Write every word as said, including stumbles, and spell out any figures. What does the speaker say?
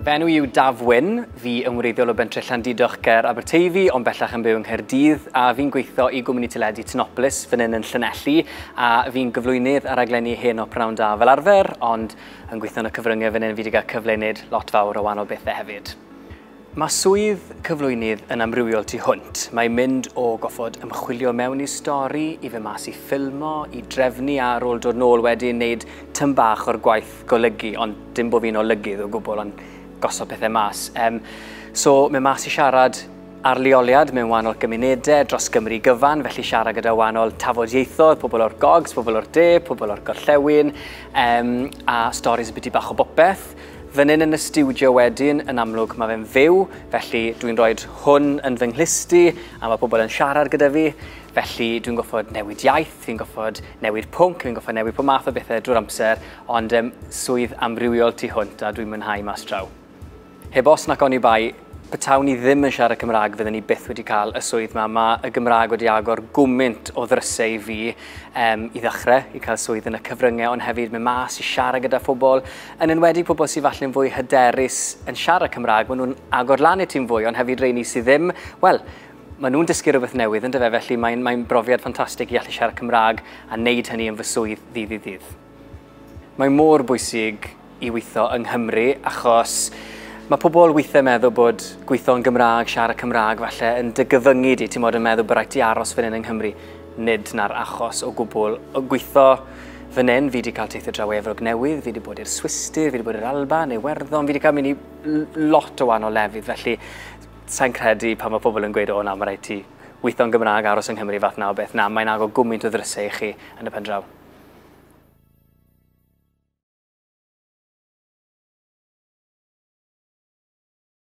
Fy enw i yw Daf Wyn, fi yn wreiddiol o bentre Llandudoch ger Aberteifi, ond bellach yn byw yng Nghaerdydd, a fi'n gweithio i gwmni teledu Tinopolis fan hyn yn Llanelli, a fi'n gyflwynydd ar raglenni Heno Pnawn Da fel arfer, ond yn gweithio yn y cyfryngau fan hyn fi wedi cael cyfle i wneud lot fawr o wahanol bethau hefyd. Mae swydd cyflwynydd yn amrywiol tu hwnt. Mae'n mynd o goffod ymchwilio mewn i stori, i fy mas i ffilmo, i drefnu a ar ôl dod nôl wedyn wneud tyn bach o'r gwaith golygu, ond dim bod fi'n olygydd o gwbl, ond gosod pethau mas. Um, so, mae mas i siarad ar leoliad mewn wahanol gymunedau dros Gymru gyfan, felly siarad gyda wahanol tafodieithoedd, pobl o'r gogs, pobl o'r de, pobl o'r gorllewin, um, a storis y byti bach o bopeth. Fan hyn yn y stiwdio wedyn, yn amlwg mae fe'n fyw, felly dwi'n rhoi hwn yn fy nghlusti a mae pobl yn siarad gyda fi, felly dwi'n goffod newid iaith, fi'n goffod newid pwnc, fi'n goffod newid pob math o bethau drwy'r amser, ond um, swydd amrywiol tu hwnt a dwi'n mwynhau mas draw. Heb os nac oni bai, petawn ni ddim yn siarad Cymraeg, fydden ni byth wedi cael y swydd yma. Mae y Gymraeg wedi agor gwmynt o ddrysau i fi um, i ddechrau, i cael swydd yn y cyfryngau, ond hefyd mynd mas i siarad gyda phobl, yn enwedig pobl sydd falle'n fwy hyderus yn siarad Cymraeg, maen nhw'n agor lan i ti'n fwy, ond hefyd rheini sydd ddim, wel, maen nhw'n dysgu rhywbeth newydd, yndyfe, felly mae'n mae brofiad ffantastig i allu siarad Cymraeg a wneud hynny yn fy swydd ddydd i ddydd. Mae mor bwysig i weithio yng Nghymru, achos mae pobl weithiau meddwl bod gweithio yn Gymraeg, siarad Cymraeg falle yn dy gyfyngu di, ti'n modd yn meddwl bod rhaid ti aros fan hyn yng Nghymru. Nid na'r achos o gwbl. O gweithio fan hyn, fi wedi cael teithio draw Efrog Newydd, fi wedi bod i'r Swistir, fi wedi bod i'r Alban, Iwerddon, fi wedi cael mynd i lot o wahanol lefydd, felly sa'n credu pan mae pobl yn gweud, o na, mae rhaid ti weithio yn Gymraeg, aros yng Nghymru fath na o beth. Na, mae'n agor gwmynt o ddrysau i chi yn y pen draw.